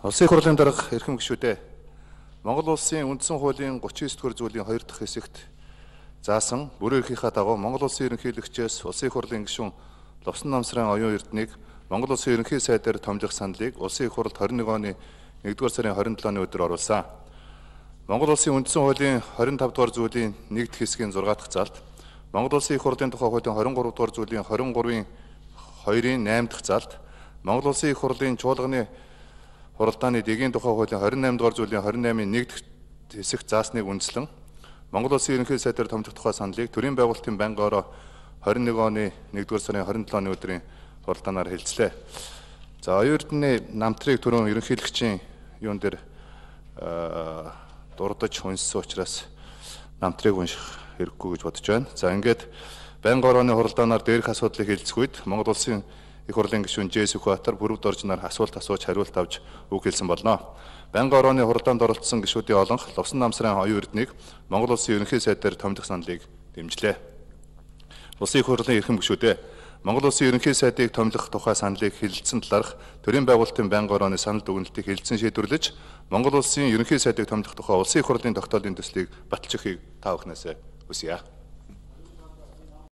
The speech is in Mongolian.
Улсын хурлын дарга эрхэм гишүүдээ Монгол улсын үндсэн хуулийн 39-р зүйлийн 2 дахь хэсэгт заасан бүрэн эрхийнхаа дагуу Монгол улсын ерөнхийлөгчөөс улсын хурлын гишүүн Лувсан Намсрын оюун эрднийг Монгол улсын ерөнхий сайдаар томилох саналыг улсын их хурлд 21 оны 1-р сарын 27-ны өдөр оруулсан. Монгол улсын үндсэн хуулийн 25-р зүйлийн 1 дахь хэсгийн 6 дахь залд Монгол улсын их хурлын тухай хуулийн 23-р зүйлийн 23-ийн 2-ийн 8 дахь залд Монгол улсын их хурлын чуулганы хуралдааны дэгийн тухай хуулийн 28-р зүйлийн 28-ийн 1 дахь хэсэгт заасныг үндэслэн Монгол улсын ерөнхий сайдаар томилох тухай саналыг төрийн байгуулалтын байнгаараа 21 оны 1-р сарын 27-ны өдрийн хуралдаанаар хэлцлээ. За оюун эрдэнэ намтрыг түрүүн ерөнхийлөгчийн юун дээр дурдж унссан учраас намтрыг унших хэрэггүй гэж бодож байна. За ингээд байнгын орооны хуралдаанаар дээрх асуудлыг хэлцэх үед Монгол улсын их хурлын гишүүн Ж. Сүхбаатар бүрд оржноор асуулт асууж хариулт авч үг хэлсэн болно. Байнгын орооны хуралдаанд оролцсон гишүүдийн олонх Лувсан Намсрын оюун эрднийг Монгол улсын ерөнхий сайдаар томилох саналыг дэмжлээ. Улсын их хурлын эрхэм гишүүдээ Монгол улсын ерөнхий сайдыг томилох тухай саналыг хэлэлцсэн талаарх төрийн байгуулалтын байнгын орооны санал дүгнэлтийг хэлэлцэн шийдвэрлэж Монгол улсын ерөнхий сайдыг томилох тухай улсын их хурлын тогтоолын төслийг баталчихыг та бүхнээс хүсье.